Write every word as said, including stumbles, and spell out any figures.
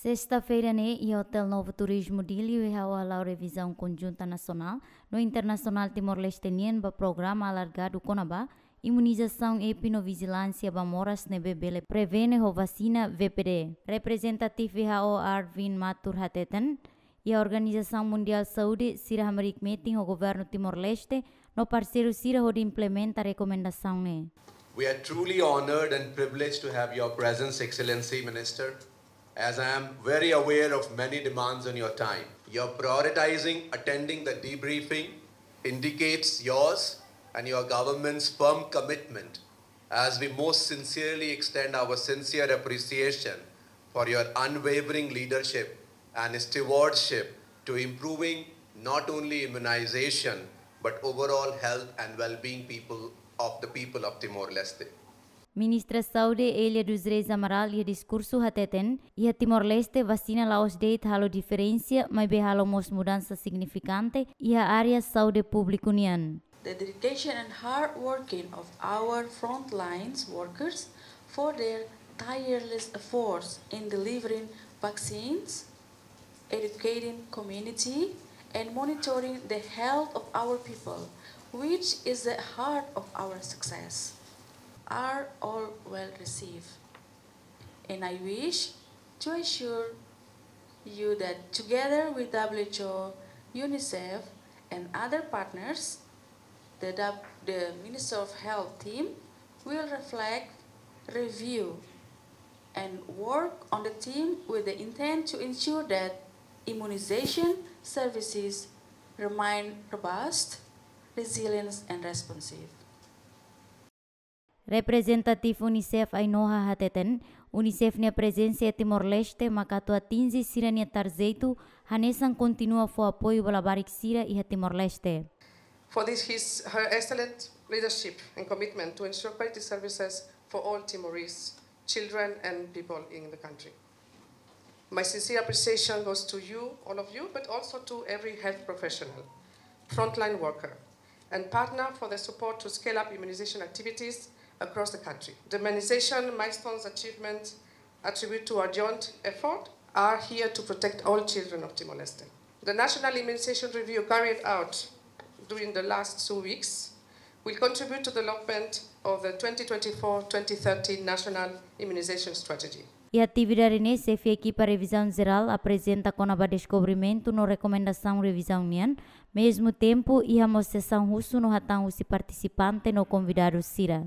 Sesta-feira ne'e, iha Hotel Novo Turismo Dili, W H O hala'o revizaun konjunta nasionál no internasionál Timor-Leste nian ba programa alargadu kona-ba imunizasaun epi no vijilánsia ba moras ne'ebé bele prevene ho vasina V P D. Reprezentativu W H O Arvind Mathur hateten, iha Organizasaun Mundiál Saúde sira hamriik metin ho Governu Timor-Leste no parseiru sira hodi implementa rekomendasaun ne'e. We are truly honored and privileged to have your presence, Excellency Minister, as I am very aware of many demands on your time. Your prioritizing attending the debriefing indicates yours and your government's firm commitment as we most sincerely extend our sincere appreciation for your unwavering leadership and stewardship to improving not only immunization but overall health and well-being people of the people of Timor-Leste. Ministra Saúde Elia dos Reis Amaral iha diskursu hateten, iha Timor-Leste vasina la'ós de'it halo diferensa, maibé halo mós mudansa signifikante iha área saúde públiku nian. The dedication and hard working of our frontlines workers for their tireless efforts in delivering vaccines, educating community, and monitoring the health of our people, which is the heart of our success, are all well received. And I wish to assure you that together with W H O, UNICEF, and other partners, the, W- the Ministry of Health team will reflect, review, and work on the team with the intent to ensure that immunization services remain robust, resilient, and responsive. Reprezentativu UNICEF Ainhoa hateten, UNICEF nia prezensa iha Timor-Leste maka atu atinje sira-nia tarjetu, hanesan kontinua fó apoiu ba labarik sira iha Timor-Leste. For this, his, her excellent leadership and commitment to ensure quality services for all Timorese children and people in the country. My sincere appreciation goes to you, all of you, but also to every health professional, frontline worker, and partner for the support to scale up immunization activities across the country. The immunization milestones achievement attribute to our joint effort are here to protect all children of Timor-Leste. The national immunization review carried out during the last two weeks will contribute to the development of the twenty twenty-four twenty thirty National Immunization Strategy. Iha atividade ne'e, xefe ekipa revizaun jerál aprezenta kona-ba deskobrimentu no rekomendasaun revizaun nian, mezmu tempu iha mós sesaun husu no hatán husi partisipante no konvidadu sira.